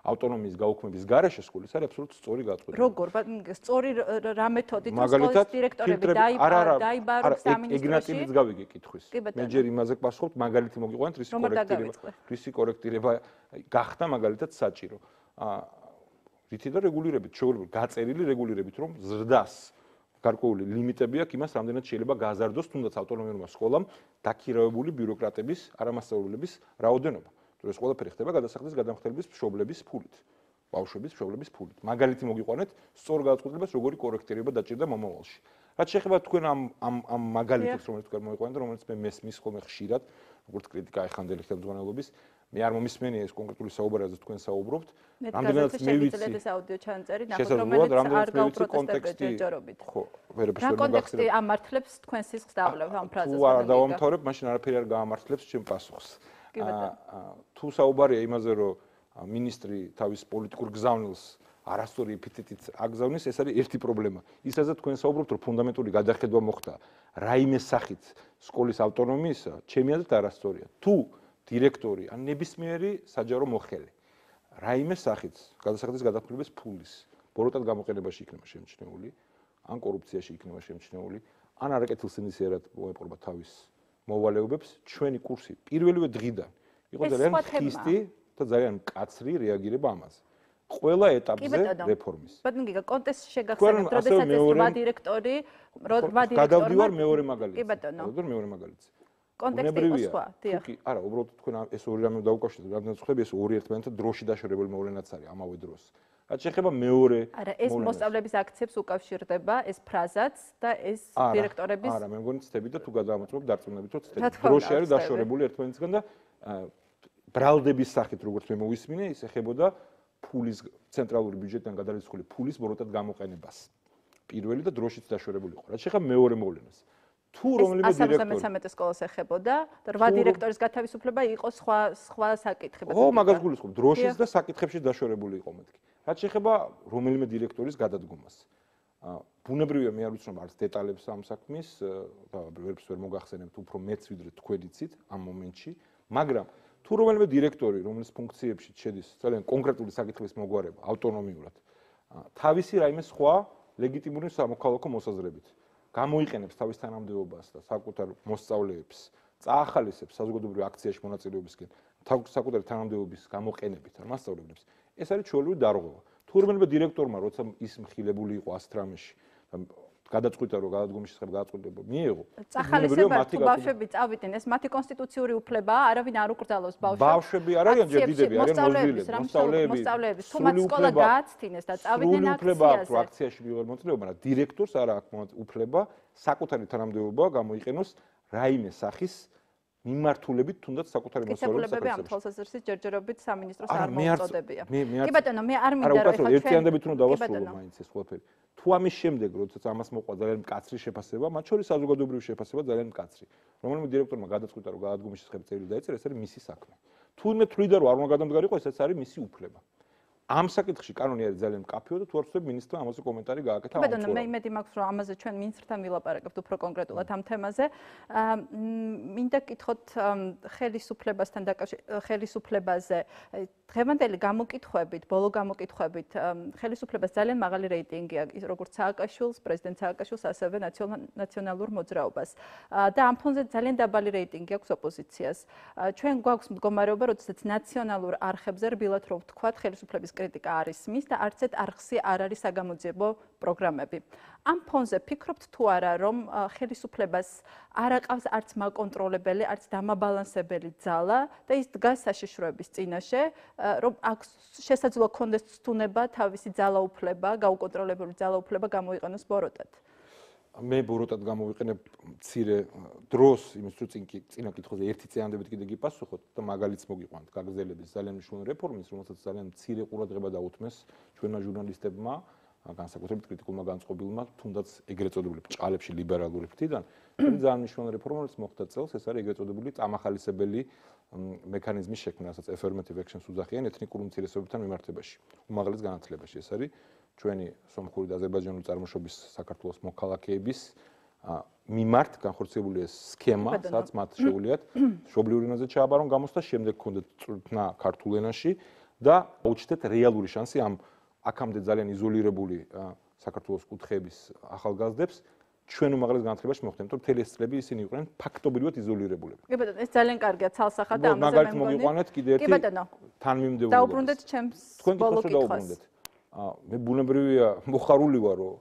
ავტონომიის გაუქმების გარეშე სკოლის არის აბსოლუტურად სწორი გადაწყვეტილება. როგორ? სწორი რა მეთოდით სკოლის დირექტორები დაიბაროს სამინისტროში? ეგნატილიც გავიგე კითხვის. მე ჯერ იმაზე გპასუხობ, მაგალითი მოგიყვანეთ, რისი კორექტირება გახდა მაგალითად საჭირო. რითი და რეგულირებით, შეუძლებელი გაწერილი რეგულირებით, რომ ზრდას გარკვეული ლიმიტები აქვს იმას, რამდენად შეიძლება გააზარდოს თუნდაც ავტონომიურმა სკოლამ დაქირავებული ბიუროკრატების, არამასწავლებლების რაოდენობა. თუ ეს ყველაფერი ხდება გადასახადის გადამხდელების მშობლების ფულით, ბავშვების მშობლების ფულით. მაგალითი მოგიყვანეთ, სწორ გადაწყვეტილებას როგორი კორექტირება დაჭირდა მომავალში. რაც შეეხება თქვენ ამ მაგალითებს, რომელიც თქვენ მოგიყვანეთ, რომელიც მე მესმის ხოლმე ხშირად, როგორც კრიტიკა ეხანდელი ხელმძღვანელობის, მე არ მომისმენია ეს კონკრეტული საუბარი, რაც თქვენ საუბრობთ. რამდენადაც მე ვიცი ეს აუდიო ჩანაწერი, ნახოთ რომელიც არ გაუპროტესტებთ ჯერჯერობით. ხო, ვერაფერს ვერ კონტექსტი ამართლებს თქვენ სისხლს დავლებთ ამ ფრაზას. თუ არ დავამთავრებ, მაშინ არაფერი არ გაამართლებს ჩემ პასუხს. თუ საუბარია იმაზე, რომ მინისტრი თავის პოლიტიკურ გზავნილს არასწორი ეპითეტით აგზავნის, ეს არის ერთი პრობლემა. ის რაზეც თქვენ საუბრობთ, რომ ფუნდამენტური გადახედვა მოხდა რაიმე სახით სკოლის ავტონომიისა, ჩემი აზრით არასწორია. თუ დირექტორი ან ნებისმიერი საჯარო მოხელე რაიმე სახით გადასახადის გადაფრთხილების ფულის ბოროტად გამოყენებაში იქნება შემჩნეული, ან კორუფციაში იქნება შემჩნეული, ან არაკეთილსინდისიერად მოეპყრობა თავის მოვალეობებს, ჩვენი კურსი პირველივე დღიდან იყო ძალიან ხისტი და ძალიან მკაცრი რეაგირება ამაზე. ყველა ეტაპზე რეფორმის. ბატონო გიგა, კონტექსტში შეგახსენებთ, როდესაც ეს რვა დირექტორი გადავდივარ მეორე მაგალითზე. კი ბატონო. მეორე მაგალითზე. კონტექსტი იყო სხვა, დიახ. არა, უბრალოდ თქვენ ეს ორი რამე დაუკავშირეთ, რამდენიც ხდება ეს ორი ერთმანეთთან დროში დაშორებული მოვლენაც არის ამავე დროს. რაც შეეხება მეორე არა, ეს მოსწავლეების აქციებს უკავშირდება, ეს ფრაზაც და ეს დირექტორების არა, მე მგონი ცდები და თუ გადაამოწმებ დარწმუნებით, რომ ცდები. დროში არის დაშორებული ერთმანეთისგან და ბრალდების სახით, როგორც მე მოვისმინე, ის ეხებოდა ფულის ცენტრალური ბიუჯეტიდან გადალისხული ფულის ბოროტად გამოყენებას. პირველი და დროშიც დაშორებული იყო. რაც შეეხება მეორე მოვლენას. თუ რომელიმე დირექტორი 173 სკოლას ეხებოდა და 8 დირექტორის გათავისუფლება იყო სხვა საკითხები. ო, მაგას გულისხმობ, დროშიც და საკითხებში დაშორებული იყო მეთქი. რაც შეეხება რომელიმე დირექტორის გადადგომას. ბუნებრივია მე არ ვიცნობ არც დეტალებს ამ საქმის და ვერაფერს ვერ მოგახსენებთ უფრო მეც ვიდრე თქვენ იცით ამ მომენტში, მაგრამ თუ რომელიმე დირექტორი, რომლის ფუნქციებში შედის ძალიან კონკრეტული საკითხის მოგვარება ავტონომიურად, თავისი რაიმე სხვა ლეგიტიმური სამოქალაქო მოსაზრებით გამოიყენებს თავის თანამდებობას და საკუთარ მოსწავლეებს, წაახალისებს საზოგადოებრივ აქციაში მონაწილეობისკენ, საკუთარი თანამდებობის გამოყენებით არ მასწავლებლებს, ეს არის ჩვეულებრივი დარღვევა. თუ რომელიმე დირექტორმა, როცა ის მხილებული იყო 100 რამეში, გადაწყვიტა რომ გადადგომის შესახებ გადაწყვეტილება მიიღო. წახალისება თუ ბავშვები წავიდნენ, ეს მათი კონსტიტუციური უფლებაა, არავინ არ უკრძალავს ბავშვებს. ბავშვები არ არიან ჯერ დიდები, არიან მოსწავლეები. თუ მათ სკოლა გააცდინეს და წავიდნენ აქციაზე. აქციაში მიიღო მონაწილეობა, მაგრამ დირექტორს არ აქვს უფლება საკუთარი თანამდებობა გამოიყენოს რაიმე სახის მიმართულებით თუნდაც საკუთარი მოსწავლეების საკითხებზე. ამ თვალსაზრისით ჯერჯერობით სამინისტროს არ მოუწოდებია. კი ბატონო, მე არ მინდა რომ ეხლა ერთიანდებით უნდა დავასრულო მაინც ეს ყველაფერი. თუ ამის შემდეგ, როდესაც ამას მოყვა ძალიან მკაცრი შეფასება, მათ შორის საზოგადოებრივი შეფასება ძალიან მკაცრი. რომელიმე დირექტორმა გადაწყვიტა რომ გადადგომის შესახებ წერილი დაეწერა, ეს არის მისი საქმე. თუ მე თვლიდა რომ არ უნდა გადამდგარიყო, ესეც არის მისი უფლება. ამ საკითხში კანონი არის ძალიან მკაფიო და თუ არ ვწდები მინისტრმა ამაზე კომენტარი გააკეთა. ბატონო, მე იმედი მაქვს რომ ამაზე ჩვენ მინისტრთან ვილაპარაკებთ უფრო კონკრეტულად ამ თემაზე. მინდა გკითხოთ ხელისუფლებასთან ხელისუფლებაზე დღევანდელი გამოკითხვებით, ბოლო გამოკითხვებით ხელისუფლებას ძალიან მაღალი რეიტინგი აქვს, როგორც სააკაშვილს, პრეზიდენტ სააკაშვილს, ასევე ნაციონალურ მოძრაობას. და ამ ფონზე ძალიან დაბალი რეიტინგი აქვს ოპოზიციას. ჩვენ გვაქვს მდგომარეობა, როდესაც ნაციონალურ არხებზე რბილად რო ვთქვათ, ხელისუფლების კრიტიკა არ ისმის და არც ერთ არხზე არ არის საგამოძიებო პროგრამები. ამ ფონზე ფიქრობთ თუ არა, რომ ხელისუფლებას არ აყავს არც მაკონტროლებელი, არც დამაბალანსებელი ძალა და ის დგას საშიშროების წინაშე, რომ აქ შესაძლოა კონდეს ცდუნება თავისი ძალაუფლება, გაუკონტროლებული ძალაუფლება გამოიყენოს ბოროტად. მე ბოროტად გამოვიყენებ მცირე დროს, იმის თუ წინა კითხვაზე ერთი წინანდებით კიდე გიპასუხოთ და მაგალითს მოგიყვანთ გაგრძელების ძალიან მნიშვნელოვანი რეფორმის, რომელსაც ძალიან მცირე ყურადღება დაუთმეს ჩვენმა ჟურნალისტებმა, განსაკუთრებით კრიტიკულმა განწყობილმა, თუნდაც ეგრეთ წოდებული ბრჭყალებში ლიბერალური ფრთიდან, ძალიან მნიშვნელოვანი რეფორმა, რომელიც მოხდა წელს, ეს არის ეგრეთ წოდებული წამახალისებელი მექანიზმის შექმნა, რასაც affirmative actions უძახიან ეთნიკურ უმცირესობებთან მიმართებაში, უმაღლეს განათლებაში. ეს არის ჩვენი სომხური და აზერბაიჯანული წარმოშობის საქართველოს მოქალაქეების მიმართ განხორციელებული ეს სქემა, სადაც მათ შეუძლიათ მშობლიური ენაზე ჩააბარონ გამოსვლა, შემდეგ ქონდეთ წვრთნა ქართულ ენაში და აუჩნდეთ რეალური შანსი ამ აქამდე ძალიან იზოლირებული საქართველოს კუთხეების ახალგაზრდებს ჩვენ უმაღლეს განათლებაში მოხვდეთ, რომ მთელი ეს წლები ისინი იყვნენ ფაქტობრივად იზოლირებულები. კი ბატონო, ეს ძალიან კარგია ცალსახად და ამაზე მაგალითად მოგიყვანეთ კიდე ერთი თანმიმდევრობა. დაუბრუნდეთ ჩემს ბოლო კითხვას. მე ბუნებრივია მოხარული ვარ, რომ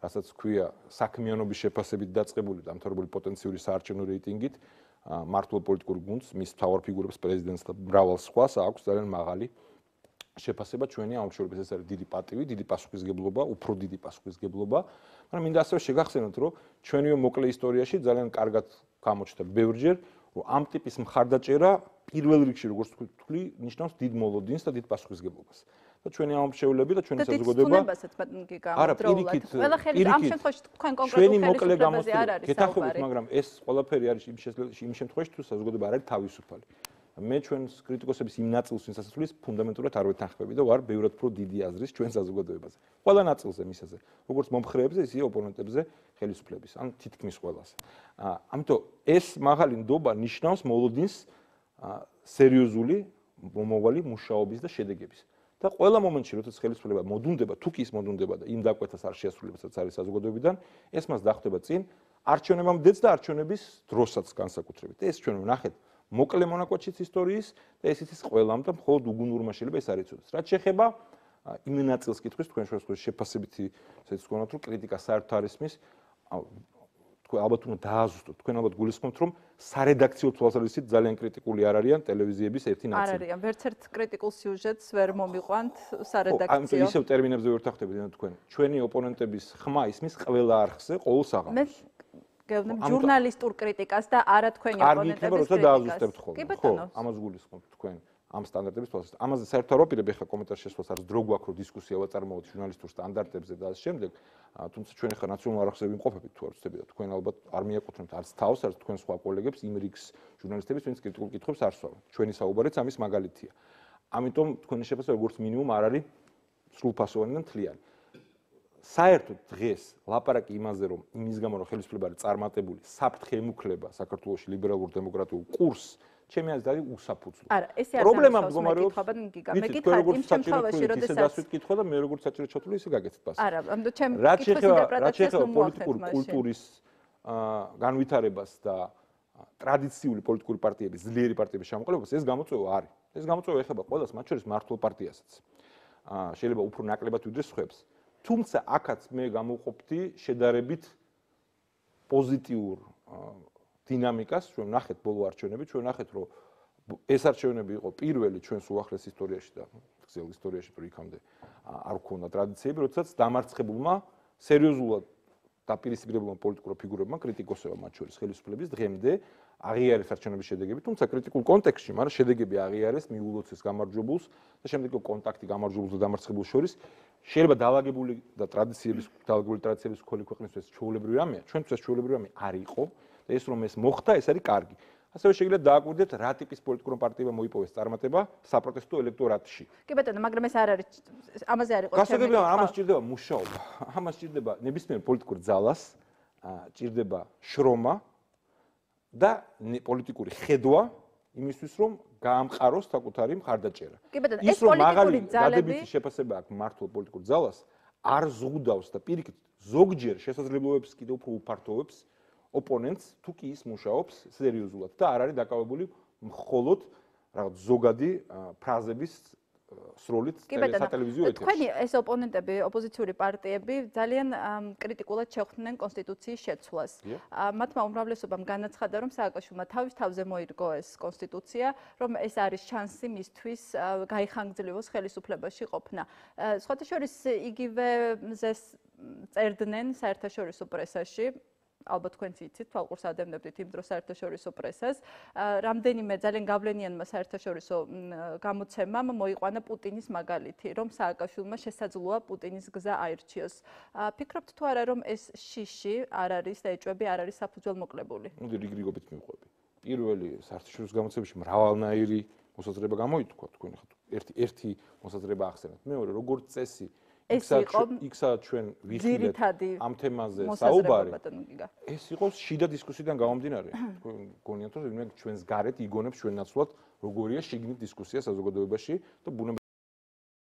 რასაც ქვია საქმიანობის შეფასებით დაწყებული დამთავრებული პოტენციური საარჩევნო რეიტინგით მართლ პოლიტიკურ გუნდს, მის მთავარ ფიგურებს, პრეზიდენტს და მრავალ სხვას აქვს ძალიან მაღალი შეფასება ჩვენი აუმშრობლების. ეს არის დიდი პატივი, დიდი პასუხისგებლობა, უფრო დიდი პასუხისგებლობა, მაგრამ მინდა ასევე შეგახსენოთ, რომ ჩვენიო მოკლე ისტორიაში ძალიან კარგად გამოჩნდა ბევრჯერ, რომ ამ ტიპის მხარდაჭერა პირველ რიგში, როგორც თქვი, ნიშნავს დიდ მოლოდინს და დიდ პასუხისგებლობას. და ჩვენი აუმშრობლები და ჩვენი საზოგადოება არა, პირიქით, ყველა ხელი ამ შემთხვევაში თქვენ კონკრეტულ ხელისუფლებაზე არ არის გეთანხმებით, მაგრამ ეს ყველაფერი არის იმ შემთხვევაში, თუ საზოგადოება არ არის თავისუფალი. მე ჩვენს კრიტიკოსების იმ ნაწილს, ვინც ასწulis ფუნდამენტურად არ ვეთანხმები და ვარ ბევრად უფრო დიდი აზრის ჩვენ საზოგადოებაზე. ყველა ნაწილზე მისაზე, როგორც მომხრეებზე, ისე ოპონენტებზე, ხელისუფლების, ან თითქმის ყველას. ამიტომ ეს მაღალი ნდობა ნიშნავს მოლოდინს სერიოზული მომავალი მუშაობის და შედეგების. და ყველა მომენტში, როდესაც ხელისუფლება მოდუნდება, თუ კი ის მოდუნდება და იმ დაკვეთას არ შეასრულებს, რაც არის საზოგადოებიდან, ეს მას დახვდება წინ არჩევნებამდეც და არჩევნების დროსაც განსაკუთრებით. ეს ჩვენ ვნახეთ მოკლე მონაკვეთშიც ისტორიის და ეს იცის ყველამ და მხოლოდ უგუნურმა შეიძლება ეს არ იცოდეს. რაც შეეხება იმ ნაწილს კითხვის თქვენ შეფასებითი ესეც თქვენოთ, რომ კრიტიკა საერთოდ არის მის თქვენ ალბათ უნდა დააზუსტოთ. თქვენ ალბათ გულისხმობთ, რომ სარედაქციო თვალსაზრისით ძალიან კრიტიკული არ არიან ტელევიზიების ერთი ნაწილი. არ არიან, ვერც ერთ კრიტიკულ სიუჟეტს ვერ მომიყვანთ სარედაქციო. ისევ ტერმინებზე ვერ ვთანხმდებით თქვენ. ჩვენი ოპონენტების ხმა ისმის ყველა არხზე, ყოველ საღამოს. გეუბნებ ჟურნალისტურ კრიტიკას და არა თქვენი ოპონენტების კრიტიკას. კი ბატონო, ამას გულისხმობთ თქვენ ამ სტანდარტების თვალსაზრისით. ამაზე საერთოდ არ ვაპირებ ახლა კომენტარში შესვლას, არის დრო გვაქვს რომ დისკუსია ვაწარმოოთ ჟურნალისტურ სტანდარტებზე და ამ შემდეგ, თუმცა ჩვენ ახლა ნაციონალურ არხზე ვიმყოფებით თუ არ ვწდები და თქვენ ალბათ არ მიაკუთვნებთ არც თავს, არც თქვენ სხვა კოლეგებს იმ რიგს ჟურნალისტების, ვინც კრიტიკულ კითხვებს არ სვავენ. ჩვენი საუბარიც ამის მაგალითია. ამიტომ თქვენი შეფასება როგორც მინიმუმ არ არის სრულფასოვანი და მთლიანი. საერთოდ დღეს ლაპარაკი იმაზე, რომ იმის გამო რომ ხელისუფლება არის წარმატებული, საფრთხე ემუქლება საქართველოში ლიბერალურ დემოკრატიულ კურსს, ჩემი აზრით არის უსაფუძვლო. არა, ესე არ გამოსავს მე გითხარ იმ შემთხვევაში, როდესაც დასვით კითხვა და მე როგორც საჭირო ჩათვლი ისე გაგეცეთ პასუხი. არა, ამიტომ ჩემ კითხვის ინტერპრეტაციას პოლიტიკური კულტურის განვითარებას და ტრადიციული პოლიტიკური პარტიების, ძლიერი პარტიების შემოყალიბებას ეს გამოწვევა არის. ეს გამოწვევა ეხება ყველას, მათ შორის მართლ პარტიასაც. შეიძლება უფრო ნაკლებად ვიდრე სხვებს. თუმცა აქაც მე გამოვყოფდი შედარებით პოზიტიურ დინამიკას, ჩვენ ნახეთ ბოლო არჩევნები, ჩვენ ნახეთ რომ ეს არჩევნები იყო პირველი ჩვენს უახლეს ისტორიაში და გრძელ ისტორიაში თუ იქამდე არ ქონდა ტრადიციები, როდესაც დამარცხებულმა სერიოზულად დაპირისპირებულმა პოლიტიკურ ფიგურებმა კრიტიკოსებმა მათ შორის ხელისუფლების დღემდე აღიარეს არჩევნების შედეგები, თუმცა კრიტიკულ კონტექსტში, მაგრამ შედეგები აღიარეს მიულოცეს გამარჯვებულს და შემდეგ კონტაქტი გამარჯვებულს და დამარცხებულს შორის შეიძლება დაალაგებული და დაალაგებული ტრადიციების მქონე ქვეყნისთვის ჩვეულებრივი რამეა, ჩვენთვის ჩვეულებრივი რამე არ იყო და ეს რომ ეს მოხდა, ეს არის კარგი. ასევე შეიძლება დააკვირდეთ რა ტიპის პოლიტიკურ პარტიებმა მოიპოვეს წარმატება საპროტესტო ელექტორატში. კი ბატონო, მაგრამ ეს არ არის ამაზე არ იყო გასაგებია, ამას ჭირდება მუშაობა. ამას ჭირდება ნებისმიერ პოლიტიკურ ძალას, ჭირდება შრომა და პოლიტიკური ხედვა იმისთვის, რომ გაამყაროს საკუთარი მხარდაჭერა. კი ბატონო, ეს პოლიტიკური ძალები დადებითი შეფასება აქვს მართლ პოლიტიკურ ძალას, არ ზღუდავს და პირიქით ზოგჯერ შესაძლებლობებს კიდევ უფრო უფართოვებს ოპონენტს, თუ კი ის მუშაობს სერიოზულად და არ არის დაკავებული მხოლოდ რაღაც ზოგადი ფრაზების სროლით სატელევიზიო ეთერში. თქვენი ეს ოპონენტები, ოპოზიციური პარტიები ძალიან კრიტიკულად შეხვდნენ კონსტიტუციის შეცვლას. მათმა უმრავლესობამ განაცხადა, რომ სააკაშვილმა თავის თავზე მოირგო ეს კონსტიტუცია, რომ ეს არის შანსი მისთვის გაიხანგრძლივოს ხელისუფლებაში ყოფნა. სხვათა შორის იგივე მზეს წერდნენ საერთაშორისო პრესაში. ალბათ თქვენც იცით, თვალყურს ადევნებდით იმ დროს საერთაშორისო პრესას. რამდენიმე ძალიან გავლენიანმა საერთაშორისო გამოცემამ მოიყვანა პუტინის მაგალითი, რომ სააკაშვილმა შესაძლოა პუტინის გზა აირჩიოს. ფიქრობთ თუ არა, რომ ეს შიში არ არის და ეჭვები არ არის საფუძველმოკლებული? მოდი რიგრიგობით მივყვები. პირველი საერთაშორისო გამოცემებში მრავალნაირი მოსაზრება გამოითქვა, თქვენ ხართ ერთი მოსაზრება ახსენეთ. მეორე, როგორც წესი იქცა ჩვენ ვიხილეთ ამ თემაზე საუბარი. ეს იყო შიდა დისკუსიიდან გამომდინარე. თქვენ გონიათ რომ ჩვენს გარეთ იგონებს ჩვენ ნაცვლად როგორია შიგნით დისკუსია საზოგადოებაში და